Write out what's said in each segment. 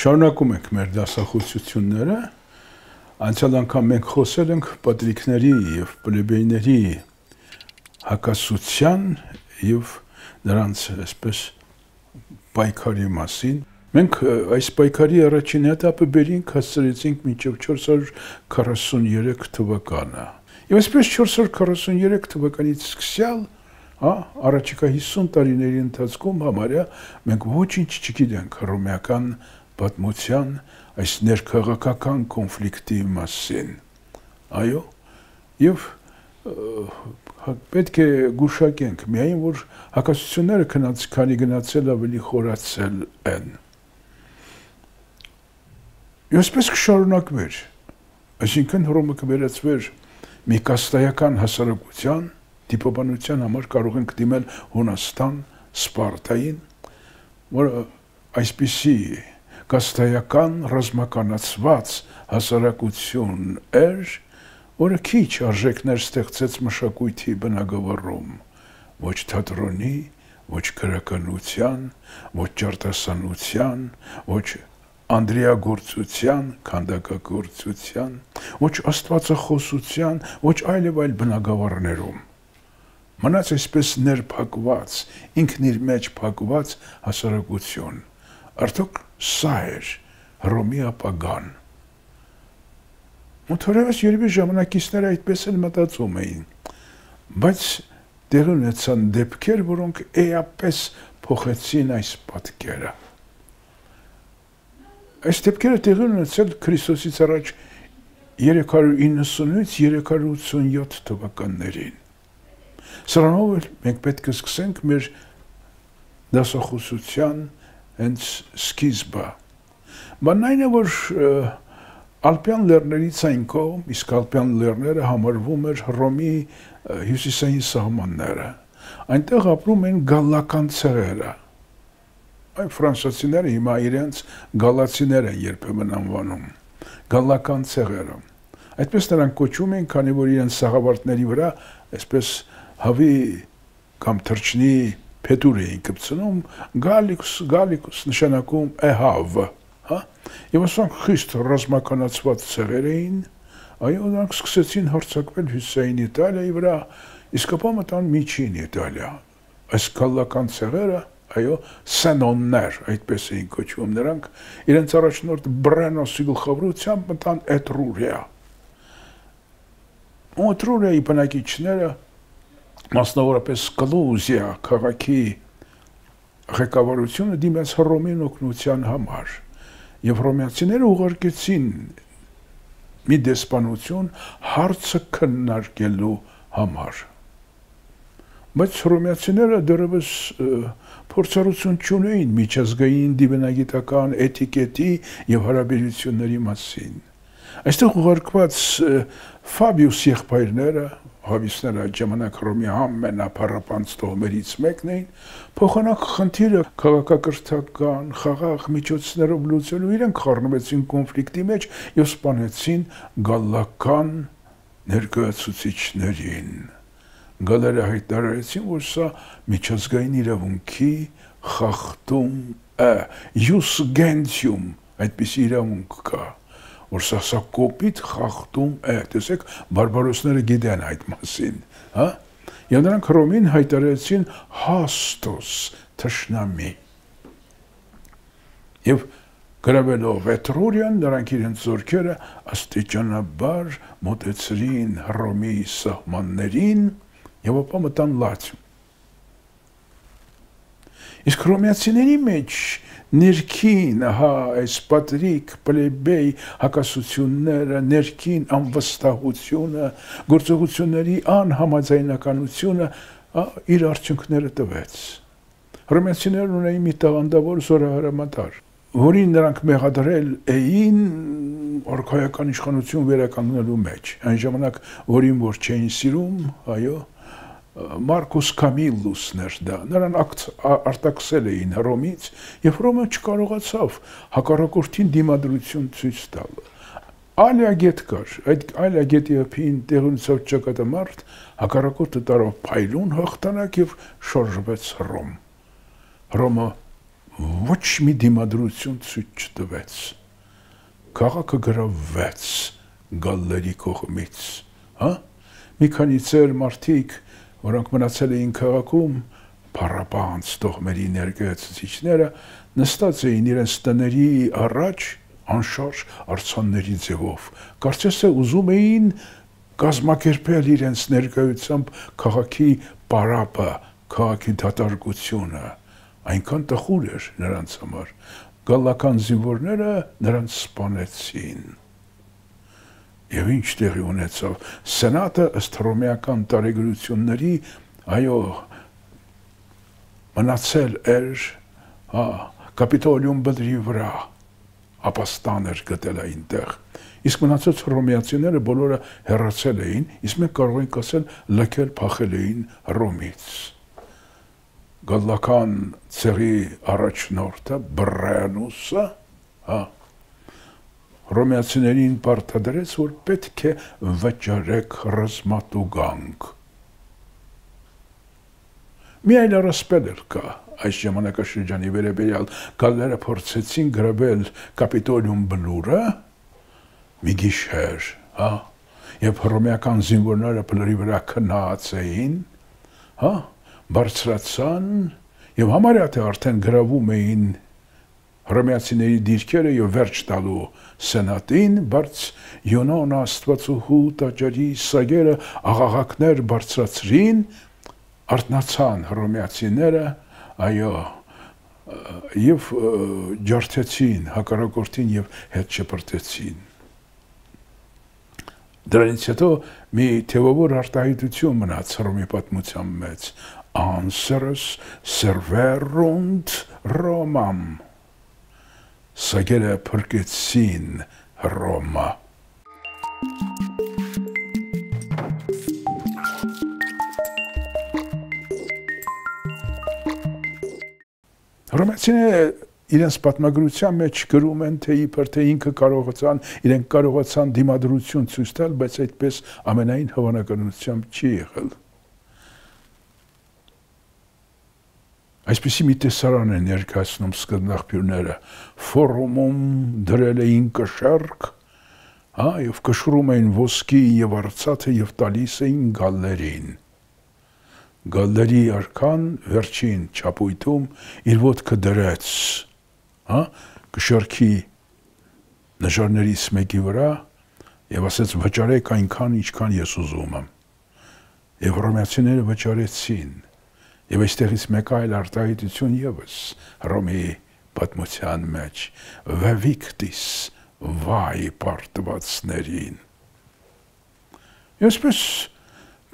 Շարունակում ենք մեր դասախոսությունները, անցյալ անգամ մենք խոսել ենք պատրիկների և պլեբեյների հակասության և նրանց այսպես պայքարի մասին։ Մենք այս պայքարի առաջին этаպը բերինք հասցրեցինք մինչև 443 թվականը։ Եվ այսպես 443 թվականից սկսյալ, առաջիկա 50 տարիների ընթացքում համարյա մենք ոչինչ չգիտենք հռոմեական պատմության այս ներքաղաքական կոնֆլիկտի մասին։ Այո, եւ պետք է գուշակենք միայն, որ հակասությունները քանի գնացել ավելի խորացել են։ Եվ այսպես կշարունակվեր, այսինքն Հռոմը կվերածվեր մի կաստայական հասարակության, դիպոբանության համար կարող ենք դիմել Հունաստան, Սպարտային, որը այսպիսի կաստայական ռազմականացված հասարակություն էր, որը քիչ արժեքներ ստեղծեց մշակույթի բնագավառում, ոչ թատրոնի, ոչ գրականության, ոչ ջրտեսանության, ոչ անդրիագործության, քանդակագործության, ոչ աստվածախոսության, ոչ այլ բնագավառներում։ Մնաց այսպես ներփակված, ինքն իր մեջ փակված հասարակություն։ Արդյոք սա էր Հռոմի ապագան։ Ու թերևս երևի ժամանակիցները այդպես էլ մտածում էին, բայց տեղի ունեցան դեպքեր, որոնք էապես փոխեցին այս պատկերը։ Այս դեպքերը տեղի ունեցել Քրիստոսից առաջ 390-ից 387 թվականներին։ Սրանով էլ մենք պետք է սկսենք մեր դասախոսության հենց սկիզբը։ Բանն այն է, որ Ալպյան լեռներից այն կողմ, իսկ Ալպյան լեռները համարվում էր Հռոմի հյուսիսային սահմանները։ Այնտեղ ապրում են գալլական ցեղերը։ Այն ֆրանսիացիները հիմա իրենց գալացիներ են երբեմն անվանում։ Գալլական ցեղերը։ Այդպես նրանք կոչում են, քանի որ իրենց սաղավարտների վրա այսպես հավի կամ թրջնի փետուր էին կպցնում, գալիկուս նշանակում էհավ, Եվ ասանք խիստ ռազմականացված ցեղեր էին, այո, նրանք սկսեցին հարձակվել հյուսիսային Իտալիայի վրա, իսկ ապա մտան միջին Իտալիա։ Այս գալլական ցեղերը, այո, սենոններ, այդպես էին կոչվում նրանք, իրենց առաջնորդ Բրենոսի գլխավորությամբ մտան Էտրուրիա։ Ու Էտրուրիայի բնակիչները, մասնավորապես Կլուզիա քաղաքի ղեկավարությունը դիմեց Հռոմին օգնության համար։ Եվ հռոմեացիները ուղարկեցին մի դեսպանություն հարցը քննարկելու համար։ Բայց հռոմեացիները դեռևս փորձառություն չունեին միջազգային դիվանագիտական էտիկետի եւ հարաբերությունների մասին։ Այստեղ ուղարկված Ֆաբիուս եղբայրները, հավիսները այդ ժամանակ Հռոմի ամենափառապանծ տոհմերից մեկն էին, փոխանակ խնդիրը քաղաքակրթական, խաղաղ միջոցներով լուծելու իրենք խառնվեցին կոնֆլիկտի մեջ եւ սպանեցին գալլական ներկայացուցիչներին։ Գալերը հայտարարեցին, որ սա միջազգային իրավունքի խախտում է, ius gentium, այդպիսի իրավունք կա, որ սա կոպիտ խախտում է, տեսեք, բարբարոսները գիտեն այդ մասին, Եվ նրանք Հռոմին հայտարարեցին հաստոս թշնամի։ Եվ գրավելով Էտրուրիան, նրանք իրենց զորքերը աստիճանաբար մոտեցրին Հռոմի սահմաններին եւ ապա մտան Լատիում։ Իսկ հռոմեացիների մեջ ներքին, այս պատրիկ, պլեբեյ հակասությունները, ներքին անվստահությունը, գործողությունների անհամաձայնականությունը իր արդյունքները տվեց։ Հռոմեացիներն ունեին մի տաղանդավոր զորահրամանտար, որին նրանք մեղադրել էին արքայական իշխանություն վերականգնելու մեջ։ Այն ժամանակ, որին որ չէին սիրում, այո, Մարկուս Կամիլուսն էր դա, նրան արտաքսել էին Հռոմից, եւ Հռոմը չկարողացավ հակառակորդին դիմադրություն ցույց տալ։ Ալիագետ կար, այդ Ալիագետի ափին տեղի ունեցավ ճակատամարտ, հակառակորդը տարավ փայլուն հաղթանակ եւ շարժվեց Հռոմ։ Հռոմը ոչ մի դիմադրություն ցույց չտվեց։ Քաղաքը գրավվեց գալլերի կողմից, հա? Մի քանի ծեր մարդիկ, որոնք մնացել էին քաղաքում, փառապանց տոհմերի ներկայացուցիչները նստած էին իրենց տների առաջ անշարժ արձանների ձևով։ Կարծես թե ուզում էին կազմակերպել իրենց ներկայությամբ քաղաքի պարապը, քաղաքի դատարկությունը, այնքան տխուր էր նրանց համար։ Գալլական զինվորները նրանց սպանեցին։ Եվ ինչ տեղի ունեցավ։ Սենատը ըստ հռոմեական տարեգրությունների, այո, մնացել էր Կապիտոլիում բլրի վրա, ապաստան էր գտել այնտեղ։ Իսկ մնացած հռոմեացիները բոլորը հեռացել էին, իսկ մենք կարող ենք ասել լքել, փախել էին Հռոմից։ Գալլական ցեղի առաջնորդը Բռենուսը, հռոմեացիներին պարտադրեց, որ պետք է վճարեք ռազմատուգանք։ Մի այլ առասպել էլ կա այս ժամանակաշրջանի վերաբերյալ։ Գալլերը փորձեցին գրավել Կապիտոլիում բլուրը մի գիշեր, եւ հռոմեական զինվորները բլրի վրա քնած էին, բարձրացան եւ համարյա թե արդեն գրավում էին հռոմեացիների դիրքերը եւ վերջ տալու սենատին, բայց Յոնոն Աստվածուհու տաճարի սագերը աղաղակներ բարձրացրին, արթնացան հռոմեացիները, այո, եւ ջարդեցին հակառակորդին եւ հետ շպրտեցին։ Դրանից հետո մի թեւավոր արտահայտություն մնաց Հռոմի պատմության մեջ. Anserus serverunt Romam. Սագերը փրկեցին Հռոմը։ Հռոմեացիները իրենց պատմագրության մեջ գրում են, թե իբր թե իրենք կարողացան դիմադրություն ցույց տալ, բայց այդպես ամենայն հավանականությամբ չի եղել։ Այսպիսի մի տեսարան է ներկայացնում սկզբնաղբյուրները, ֆորումում դրել էին կշեռք, եւ կշռում էին ոսկի եւ արծաթը եւ տալիս էին գալլերին։ Գալլերի արքան վերջին չապույտում իր ոտքը դրեց, կշեռքի նժարներից մեկի վրա եւ ասեց վճարեք այնքան, ինչքան ես ուզում եմ։ Եվ հռոմեացիները վճարեցին։ Եվ այստեղից մեկ այլ արտահայտություն եւս Հռոմի պատմության մեջ վավիկտիս վայ պարտվածներին։ Այսպես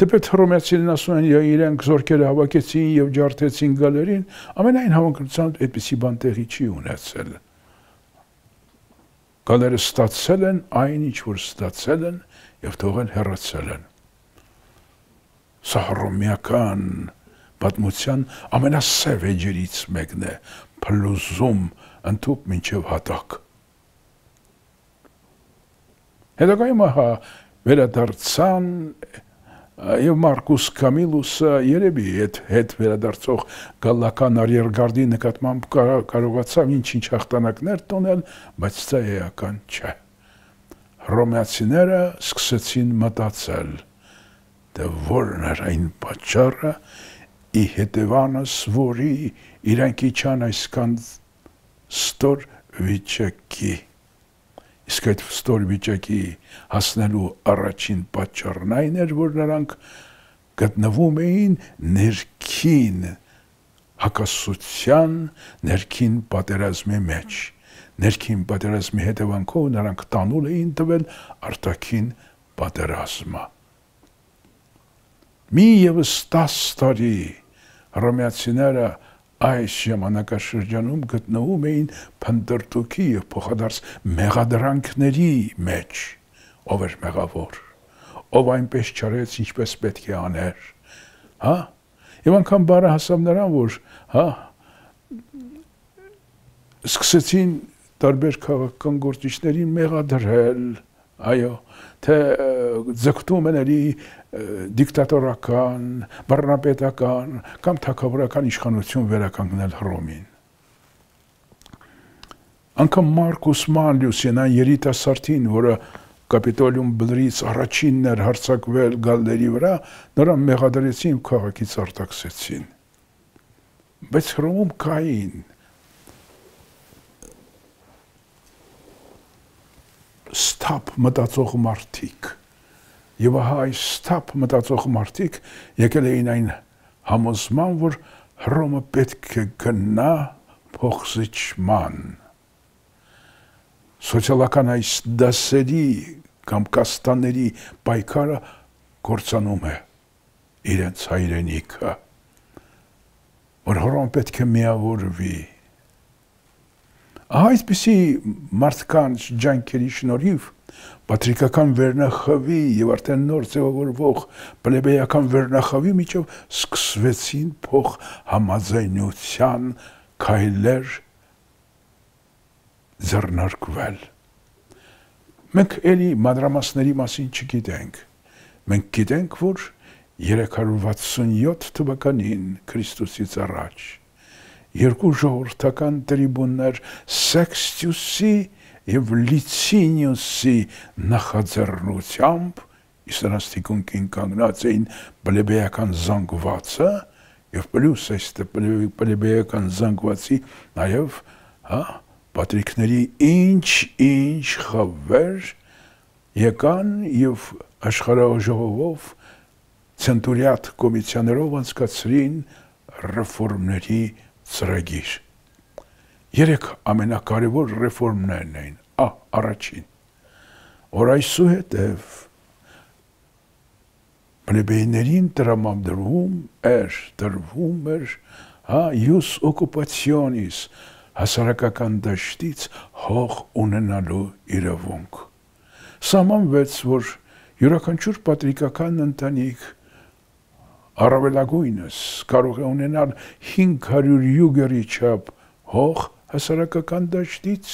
թեպետ հռոմեացիներն ասում են, իրենք զորքերը հավաքեցին եւ ջարդեցին գալերին, ամենայն հավանականությամբ այդպիսի բան տեղի չի ունեցել։ Գալերը ստացել են այն, ինչ որ ստացել են եւ թողել հեռացել են։ Սա հռոմեական պատմության ամենասև էջերից մեկն է, փլուզում ընդཐུպ մինչև հատակ։ Հետագայում վերադարձան եւ Մարկուս Կամիլուսը երևի հետ վերադարձող գալլական արիերգարդի նկատմամբ կարողացավ ինչ-ինչ հաղթանակներ տոնել, բայց դա էական չէ։ Հռոմեացիները սկսեցին մտածել, թե որն էր այն պատճառը, ի հետևանս որի իրանք իջան այսքան ստոր վիճակի։ Իսկ այդ ստոր վիճակի հասնելու առաջին պատճառն այն էր, որ նրանք գտնվում էին ներքին հակասության, ներքին պատերազմի մեջ։ Ներքին պատերազմի հետևանքով նրանք տանուլ էին տվել արտաքին պատերազմը։ Մի ևս 10 տարի հռոմեացիները այս ժամանակաշրջանում գտնվում էին փնտրտուքի եւ փոխադարձ մեղադրանքների մեջ, ով էր մեղավոր, ով այնպես չարեց, ինչպես պետք է աներ, եւ անգամ բառը հասավ նրան, որ սկսեցին տարբեր քաղաքական գործիչներին մեղադրել, այո, թե ձգտում են դիկտատորական, բռնապետական կամ թագավորական իշխանություն վերականգնել Հռոմին։ անգամ Մարկուս Մանլիուսին, այն երիտասարդին, որը Կապիտոլիում բլրից առաջինն էր հարձակվել գալների վրա, նրան մեղադրեցին ու քաղաքից արտաքսեցին։ Բայց Հռոմում կային ստապ մտածող մարդիկ։ Եվ ահա այս ստապ մտածող մարդիկ եկել էին այն համոզման, որ Հռոմը պետք է գնա փոխզիջման։ Սոցիալական այս դասերի կամ կաստաների պայքարը կործանում է իրենց հայրենիքը, որ Հռոմը պետք է միավորվի։ Այսպիսի մարդկանց ջանքերի շնորհիվ պատրիկական վերնախավի եւ արդեն նոր ձևավորվող պլեբեյական վերնախավի միջով սկսվեցին փոխ համաձայնության քայլեր ձեռնարկվել։ Մենք էլի մանրամասների մասին չգիտենք։ Մենք գիտենք, որ 367 թվականին Քրիստոսից առաջ երկու ժողովրդական տրիբուններ Սեքստիուսի եւ Լիցինիուսի նախաձեռնությամբ իսլամստիկունքին կանգնած էին պլեբեյական զանգվածը եւ պլյուս այստեղ պլեբեյական զանգվածի նաեւ պատրիկների ինչ խավեր եկան եւ աշխարհաժողովով ցենտուրիատ կոմիսիաներով անցկացրին ռեֆորմների ծրագիր։ 3 ամենակարևոր ռեֆորմներն էին։ Առաջին, որ այսուհետև պլեբեյներին տրամադրվում էր ius occupationis հասարակական դաշտից հող ունենալու իրավունք։ Սահմանվեց, որ յուրաքանչյուր պատրիկական ընտանիք առավելագույնս կարող է ունենալ 500 յուգերի չափ հող հասարակական դաշտից,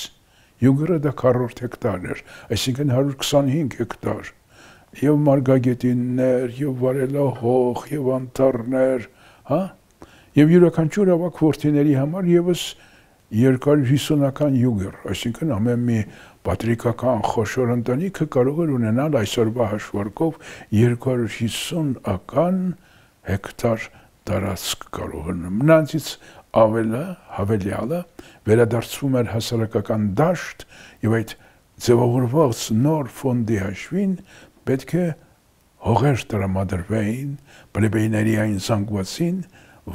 յուգերը դա 40 հեկտար էր, այսինքն 125 հեկտար, եւ մարգագետիններ, եւ վարելահող, եւ անտառներ, եւ յուրաքանչյուր ավագ որդիների համար եւս 250-ական յուգեր, այսինքն ամեն մի պատրիկական խոշոր ընտանիքը կարող էր ունենալ այսօրվա հաշվարկով 250-ական հեկտար տարածք կարող էր։ Մնացից հավելյալը վերադարձվում էր հասարակական դաշտ եւ այդ ձևավորված նոր ֆոնդի հաշվին պետք է հողեր տրամադրվեին պլեբեյների այն զանգվածին,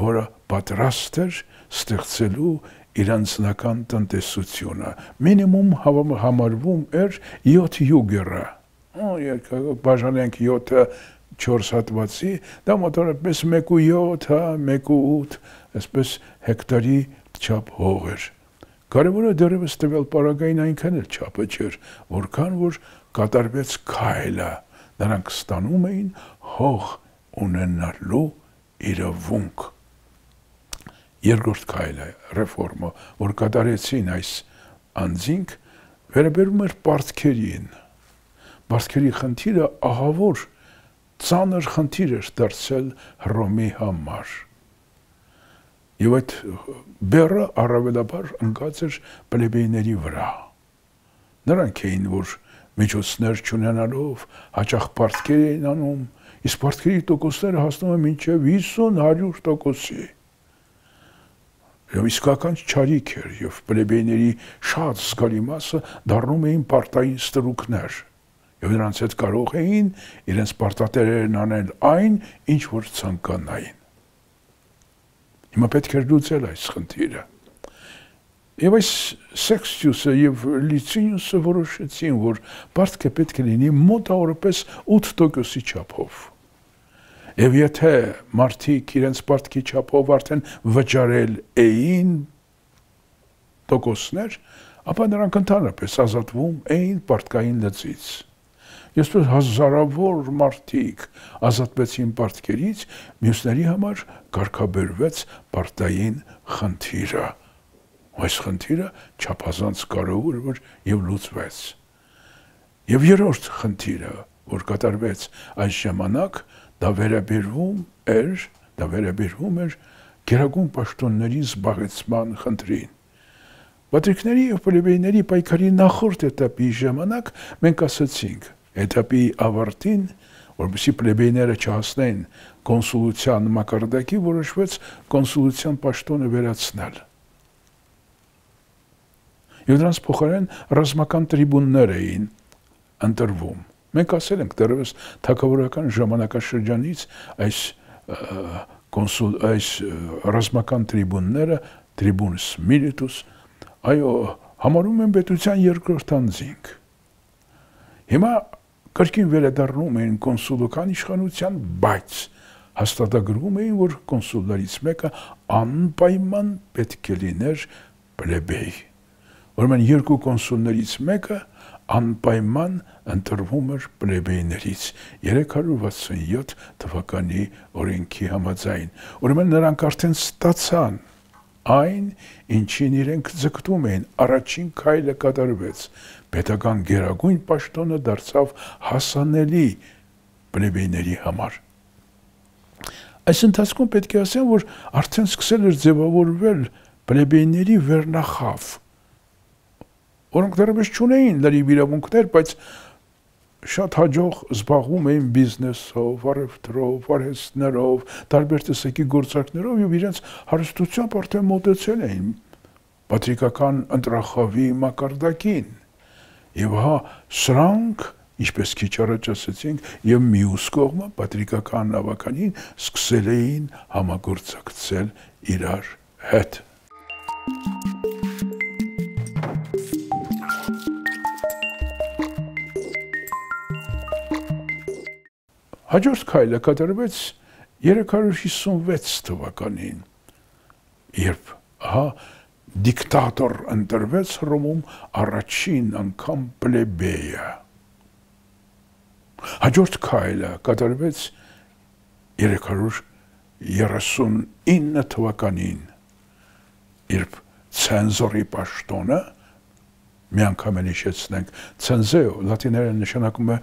որը պատրաստ էր ստեղծելու իր անձնական տնտեսությունը։ Մինիմում համարվում էր 7 յուգերը։ Բաժանենք 7-ը 4 հատվածի, դա մոտավորապես 1.7, 1.8, այսպես հեկտարի չափ հող էր։ Կարևորը դեռևս տվյալ պարագային այնքան էլ չափը չէր, որքան որ կատարվեց քայլը, նրանք ստանում էին հող ունենալու իրավունք։ Երկրորդ քայլը, ռեֆորմը, որ կատարեցին այս անձինք, վերաբերում էր պարտքերին։ Պարտքերի խնդիրը ահավոր ծանր խնդիր էր դարձել Հռոմի համար։ Եվ այդ բեռը առավելաբար ընկած էր պլեբեյների վրա։ Նրանք էին, որ միջոցներ չունենալով հաճախ պարտքեր էին անում, իսկ պարտքերի տոկոսները հասնում են մինչև 50-100%-ի։ Եվ իսկական չարիք էր, եւ պլեբեյների շատ զգալի մասը դառնում էին պարտային ստրուկներ, եւ նրանց հետ կարող էին իրենց պարտատերերն անել այն, ինչ որ ցանկանային։ Հիմա պետք էր լուծել այս խնդիրը։ Եվ այս Սեքստիուսը եւ Լիցինիուսը որոշեցին, որ պարտքը պետք է լինի մոտավորապես 8%-ի չափով։ Եվ եթե մարդիկ իրենց պարտքի չափով արդեն վճարել էին տոկոսներ, ապա նրանք ընդհանրապես ազատվում էին պարտքային լծից։ Այսպես հազարավոր մարդիկ ազատվեցին պարտքերից, մյուսների համար կարգաբերվեց պարտային խնդիրը։ Այս խնդիրը չափազանց կարևոր էր եւ լուծվեց։ Եվ երրորդ խնդիրը, որ կատարվեց այս ժամանակ, դա վերաբերվում էր գերագույն պաշտոնների զբաղեցման խնդրին։ Պատրիկների և պլեբեյների պայքարի նախորդ էտապի ժամանակ մենք ասացինք, էտապի ավարտին, որպեսզի պլեբեյները չհասնեն կոնսուլության մակարդակի, որոշվեց կոնսուլության պաշտոնը վերացնել։ Եվ դրանց փոխարեն ռազմական տրիբուններ էին ընտրվում։ Մենք ասել ենք դեռևս թագավորական ժամանակաշրջանից այս ռազմական տրիբունները, տրիբունս միլիտուս, այո, համարում են պետության երկրորդ անձինք։ Հիմա կրկին վերադառնում էին կոնսուլական իշխանության, բայց հաստատագրում էին, որ կոնսուլներից մեկը անպայման պետք է լիներ պլեբեյ։ Ուրեմն երկու կոնսուլներից մեկը անպայման ընտրվում էր պլեբեյներից 367 թվականի օրենքի համաձայն։ Ուրեմն նրանք արդեն ստացան այն, ինչին իրենք ձգտում էին, առաջին քայլը կատարվեց, պետական գերագույն պաշտոնը դարձավ հասանելի պլեբեյների համար։ Այս ընթացքում պետք է ասեմ, որ արդեն սկսել էր ձևավորվել պլեբեյների վերնախավ, որոնք դեռևս չունեին լրիվ իրավունքներ, բայց շատ հաջող զբաղվում էին բիզնեսով, առևտրով, արհեստներով, տարբեր տեսակի գործարքներով եւ իրենց հարստությամբ արդեն մոտեցել էին պատրիկական ընտրախավի մակարդակին։ Եվ հա սրանք, ինչպես քիչ առաջ ասացինք, եւ մյուս կողմը պատրիկական ավականին սկսել էին համագործակցել իրար հետ։ Հաջորդ քայլը կատարվեց 356 թվականին, երբ դիկտատոր ընտրվեց Հռոմում առաջին անգամ պլեբեյը։ Հաջորդ քայլը կատարվեց 339 թվականին, երբ ցենզորի պաշտոնը, մի անգամ էլ հիշեցնենք, ցենզեո լատիներեն նշանակում է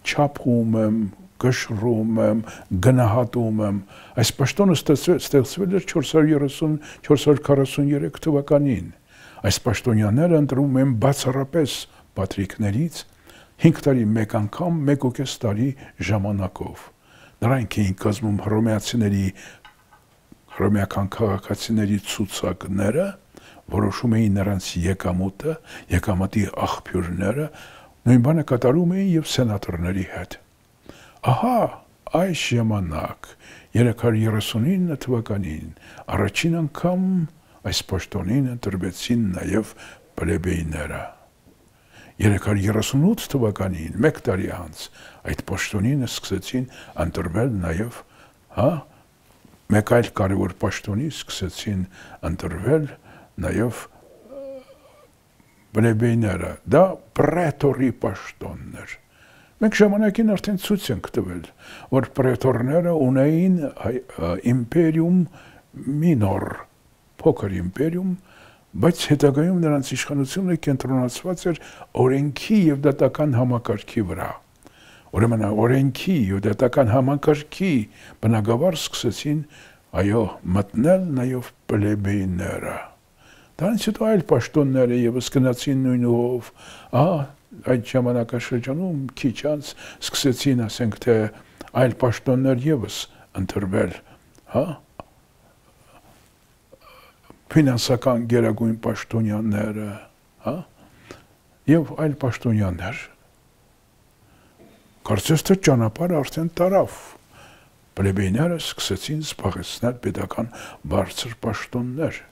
չափում եմ, կշռում եմ, գնահատում եմ։ Այս պաշտոնը ստեղծվել էր 443 թվականին։ Այս պաշտոնյաները ընտրում են բացառապես պատրիկներից 5 տարի մեկ անգամ 1.5 տարի ժամանակով։ Նրանք էին կազմում հռոմեական քաղաքացիների ցուցակները, որոշում էին նրանց եկամուտը, եկամտի աղբյուրները, նույն բանը կատարում էին եւ սենատորների հետ։ Ահա այս ժամանակ 339 թվականին առաջին անգամ այս պաշտոնին ընտրվեցին նաեւ պլեբեյները։ 338 թվականին, մեկ տարի անց, այդ պաշտոնին սկսեցին ընտրվել նաեւ, մեկ այլ կարևոր պաշտոնի սկսեցին ընտրվել նաեւ պլեբեյները, դա պրետորի պաշտոնն էր։ Մենք ժամանակին արդեն ցույց ենք տվել, որ պրետորները ունեին իմպերիում մինոր, փոքր իմպերիում, բայց հետագայում նրանց իշխանությունը կենտրոնացված էր օրենքի եւ դատական համակարգի վրա։ Ուրեմն օրենքի եւ դատական համակարգի բնագավառ սկսեցին, այո, մտնել նաեւ պլեբեյները։ Դրանից հետո այլ պաշտոնները եւս գնացին նույն ուղով, այդ ժամանակաշրջանում քիչ անց սկսեցին, ասենք թե, այլ պաշտոններ եւս ընտրվել, ֆինանսական գերագույն պաշտոնյաները, եւ այլ պաշտոնյաներ։ Կարծես թե ճանապարհը արդեն տարավ։ Պլեբեյները սկսեցին զբաղեցնել պետական բարձր պաշտոններ։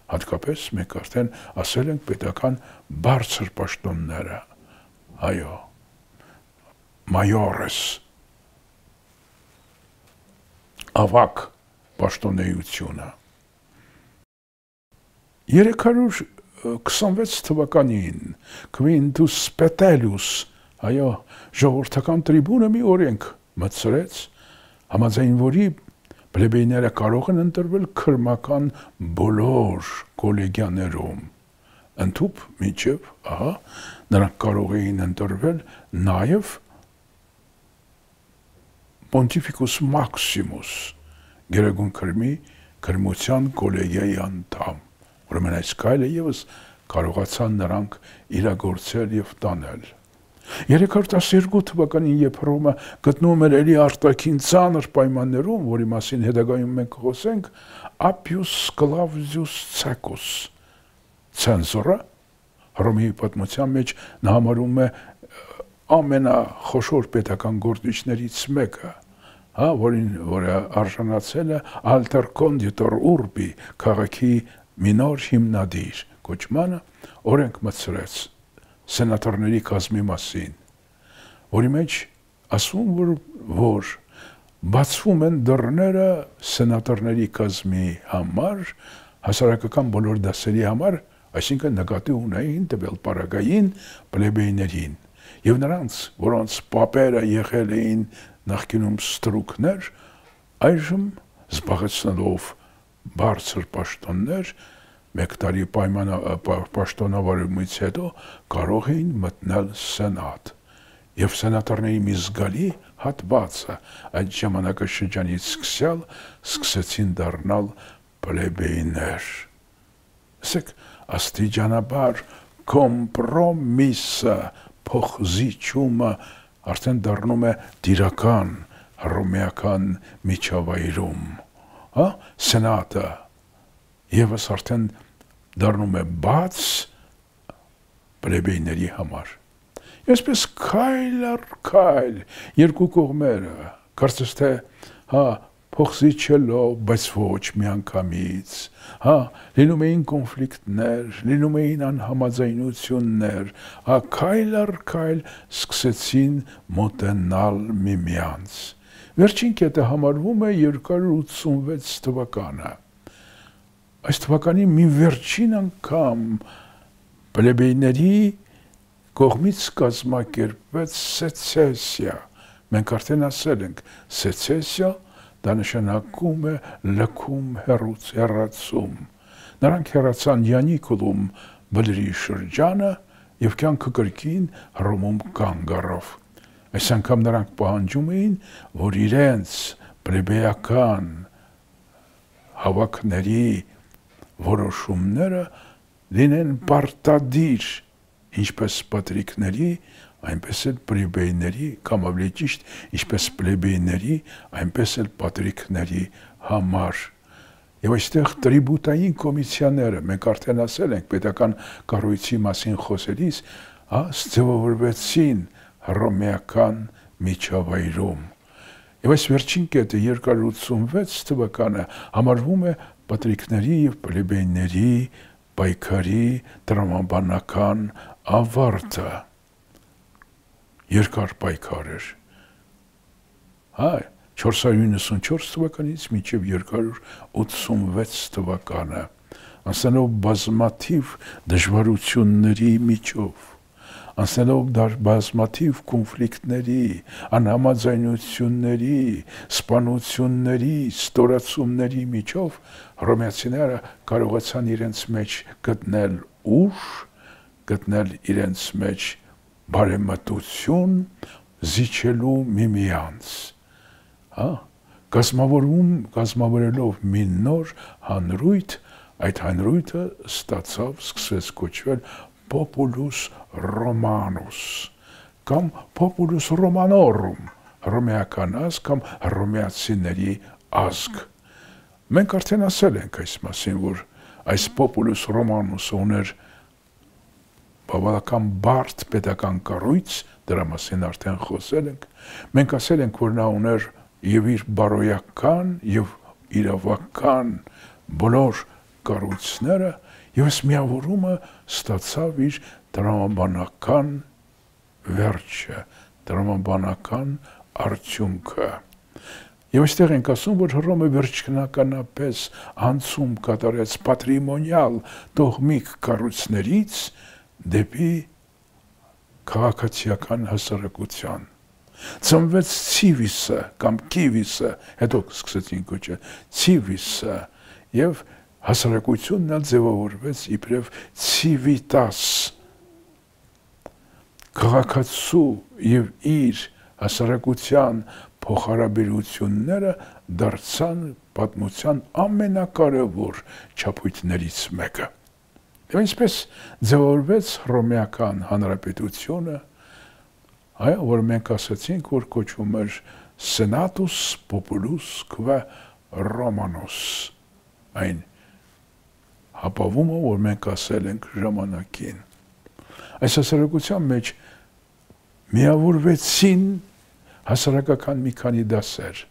Հատկապես մենք արդեն ասել ենք պետական բարձր պաշտոնները, այո, մայորես, ավակ պաշտոնեությունը։ 326 թվականին Quintus Petellus, այո, ժողովրդական տրիբունը մի օրենք մտցրեց, համաձայն որի պլեբեյները կարող են ընտրվել քրմական բոլոր կոլեգիաներում, ընդհուպ մինչև, նրանք կարող էին ընտրվել նաև Pontificus Maximus, գերագույն քրմի քրմության կոլեգիայի անդամ, Ուրեմն այս քայլը եւս կարողացան նրանք իրագործել եւ տանել։ 312 թվականին, երբ Հռոմը գտնվում էր էլի արտաքին ծանր պայմաններում, որի մասին հետագայում մենք խոսենք, Ապիուս Կլավդիուս Ցակոս ցենզորը Հռոմի պատմության մեջ նա համարում է ամենախոշոր պետական գործիչներից մեկը, որը արժանացել է Alter Conditor Urbi քաղաքի մի նոր հիմնադիր կոչմանը, օրենք մտցրեց սենատորների կազմի մասին, որի մեջ ասում որ բացվում են դռները սենատորների կազմի համար, հասարակական բոլոր դասերի համար, այսինքն նկատի ունեին տվյալ պարագային պլեբեյներին եւ նրանց, որոնց պապերը եղել էին նախկինում ստրուկներ, այժմ զբաղեցնելով բարձր պաշտոններ, մեկ տարի պաշտոնավարումից հետո կարող էին մտնել սենատ եւ սենատորների մի զգալի հատվածը այդ ժամանակաշրջանից սկսյալ սկսեցին դառնալ պլեբեյներ։ Ասեք, աստիճանաբար կոմպրոմիսը, փոխզիջումը արդեն դառնում է դիրական հռոմեական միջավայրում, սենատը եւս արդեն դառնում է բաց պլեբեյների համար։ Այսպես քայլ առ քայլ երկու կողմերը, կարծես թե, փոխզիջելով, բայց ոչ միանգամից, լինում էին կոնֆլիկտներ, լինում էին անհամաձայնություններ, քայլ առ քայլ սկսեցին մոտենալ միմյանց։ Վերջին կետը համարվում է 286 թվականը։ Այս թվականի մի վերջին անգամ պլեբեյների կողմից կազմակերպվեց սեցեսիա։ Մենք արդեն ասել ենք, սեցեսիա դա նշանակում է լքում հեռացում։ Նրանք հեռացան Յանիկուլում բլրի շրջանը եւ կյանքը կրկին Հռոմում կանգ առավ։ Այս անգամ նրանք պահանջում էին, որ իրենց պլեբեյական հավաքների որոշումները լինեն պարտադիր, ինչպես պատրիկների, այնպես էլ պլեբեյների, կամ ավելի ճիշտ, ինչպես պլեբեյների, այնպես էլ պատրիկների համար։ Եվ այստեղ տրիբուտային կոմիսիաները, մենք արդեն ասել ենք պետական կառույցի մասին խոսելիս, ձևավորվեցին հռոմեական միջավայրում։ Եվ այս վերջին կետը 286 թվականը համարվում է պատրիկների եւ պլեբեյների պայքարի տրամաբանական ավարտը։ Երկար պայքար էր։ 494 թվականից մինչև 286 թվականը, անցնելով բազմաթիվ դժվարությունների միջով, անցնելով բազմաթիվ կոնֆլիկտների, անհամաձայնությունների, սպանությունների, ստորացումների միջով, հռոմեացիները կարողացան իրենց մեջ գտնել ուժ, գտնել իրենց մեջ բարեմտություն, զիջելու միմյանց, կազմավորելով մի նոր հանրույթ, այդ հանրույթը սկսեց կոչվել Populus Romanus, կամ Populus Romanorum, հռոմեական ազգ կամ հռոմեացիների ազգ։ Մենք արդեն ասել ենք այս մասին, որ այս Populus Romanus-ը ուներ բավական բարդ պետական կառույց, դրա մասին արդեն խոսել ենք։ Մենք ասել ենք, որ նա ուներ եւ իր բարոյական եւ իրավական բոլոր կառույցները, եւ այս միավորումը ստացավ իր տրամաբանական վերջը, տրամաբանական արդյունքը։ Եվ այստեղ ենք ասում, որ Հռոմը վերջնականապես անցում կատարեց պատրիմոնիալ տոհմիկ կառույցներից դեպի քաղաքացիական հասարակության։ Ծնվեց Ցիվիսը կամ Կիվիսը, հետո սկսեցին կոչել Ցիվիսը, եւ հասարակությունն ձևավորվեց իբրև Civitas, քաղաքացու եւ իր հասարակության փոխհարաբերությունները դարձան պատմության ամենակարևոր չափույթներից մեկը։ Եվ ինչպես ձևավորվեց Հռոմեական Հանրապետությունը, այո, որ մենք ասացինք, որ կոչվում էր Senatus Populus Quae Romanus, այն հապավումը, որ մենք ասել ենք ժամանակին։ Այս հասարակության մեջ միավորվեցին հասարակական մի քանի դասեր։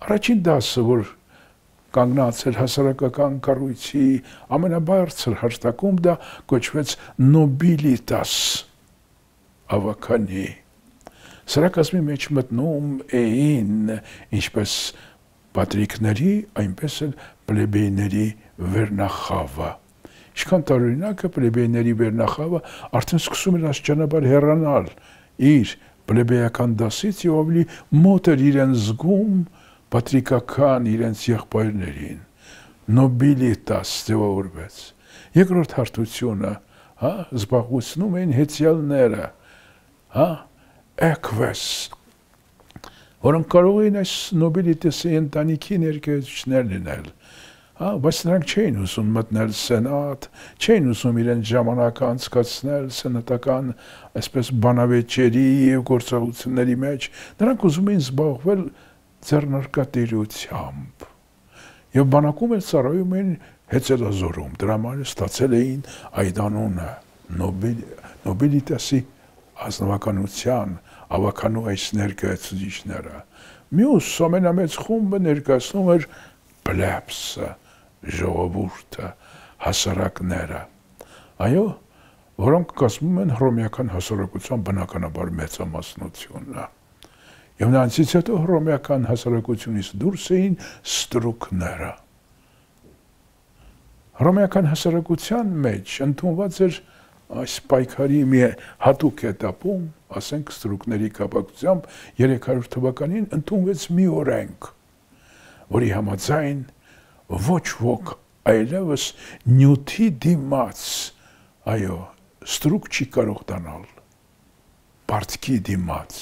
Առաջին դասը, որ կանգնած էր հասարակական կառույցի ամենաբարձր հաշտակում, դա կոչվեց nobilitas, ավականի։ Սրա կազմի մեջ մտնում էին ինչպես պատրիկների, այնպես էլ պլեբեյների վերնախավը։ Ինչքան տարօրինակ է, պլեբեյների վերնախավը արդեն սկսում էր աստիճանաբար հեռանալ իր պլեբեյական դասից եւ ավելի մոտ էր իրեն զգում պատրիկական իրենց եղբայրներին, nobilitas ձևավորվեց։ Երկրորդ հարթությունը, զբաղեցնում էին հեծյալները, eques, որոնք կարող էին այս nobilitas-ի ընտանիքի ներկայացուցիչներ լինել, բայց նրանք չէին ուզում մտնել սենատ, չէին ուզում իրենց ժամանակը անցկացնել սենատական այսպես բանավեճերի եւ գործողությունների մեջ, նրանք ուզում էին զբաղվել ձեռնարկատիրությամբ եւ բանակում էլ ծառայում էին հեծելազորում, դրա համար ստացել էին այդ անունը nobilitas-ի ազնվականության ավականու այս ներկայացուցիչները։ Մյուս ամենամեծ խումբը ներկայացնում էր plebs-ը, ժողովուրդը, հասարակները, այո, որոնք կազմում են հռոմեական հասարակության բնականաբար մեծամասնությունը։ Եվ նրանցից հետո հռոմեական հասարակությունից դուրս էին ստրուկները։ Հռոմեական հասարակության մեջ ընդունված էր այս պայքարի մի հատուկ էտապում, ասենք ստրուկների կապակցությամբ 300 թվականին ընդունվեց մի օրենք, որի համաձայն ոչ ոք այլևս նյութի դիմաց, այո, ստրուկ չի կարող դառնալ, պարտքի դիմաց,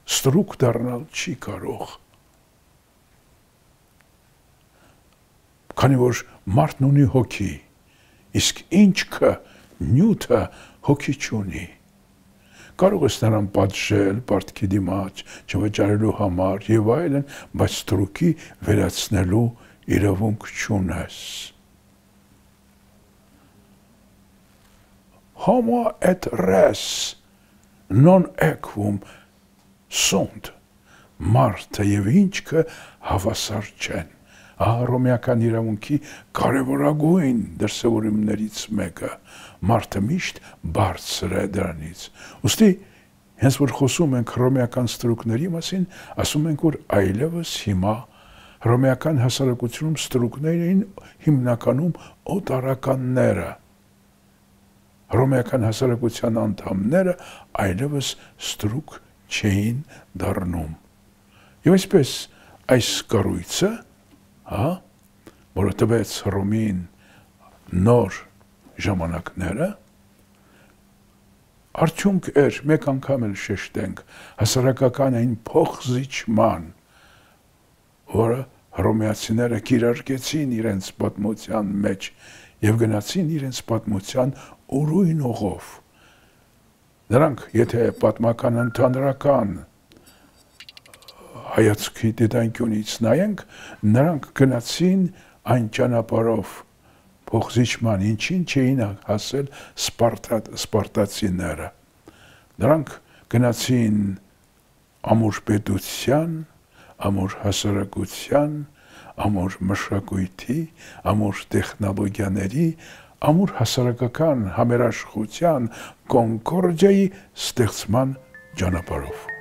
ստրուկ դառնալ չի կարող, քանի որ մարդն ունի հոգի, իսկ ինչքը նյութը հոգի չունի։ Կարող ես նրան պատժել պարտքի դիմաց, չվճարելու համար եւ այլն, բայց ստրուկի վերացնելու իրավունք չունես։ Homo et res non equum sunt, մարդը եւ ինչքը հավասար չեն։ Հռոմեական իրավունքի կարևորագույն դրսևորումներից մեկը, մարդը միշտ բարձր է դրանից։ Ուստի, հենց որ խոսում ենք հռոմեական ստրուկների մասին, ասում ենք, որ այլևս հիմա հռոմեական հասարակությունում ստրուկներ էին հիմնականում օտարականները։ Հռոմեական հասարակության անդամները այլևս ստրուկ չէին դառնում։ Եվ այսպես այս կառույցը, որը տվեց Հռոմին նոր ժամանակները, արդյունք էր, մեկ անգամ էլ շեշտենք, հասարակական այն փոխզիջման, որը հռոմեացիները կիրարկեցին իրենց պատմության մեջ եւ գնացին իրենց պատմության ուրույն ուղով։ Նրանք, եթե պատմական ընդհանրական հայացքի դիտանկյունից նայենք, նրանք գնացին այն ճանապարհով փոխզիջման, ինչին չէին հասել սպարտացիները։ Նրանք գնացին ամուր պետության, ամուր հասարակության, ամուր մշակույթի, ամուր տեխնոլոգիաների, ամուր հասարակական համերաշխության կոնկորդիայի ստեղծման ճանապարհով։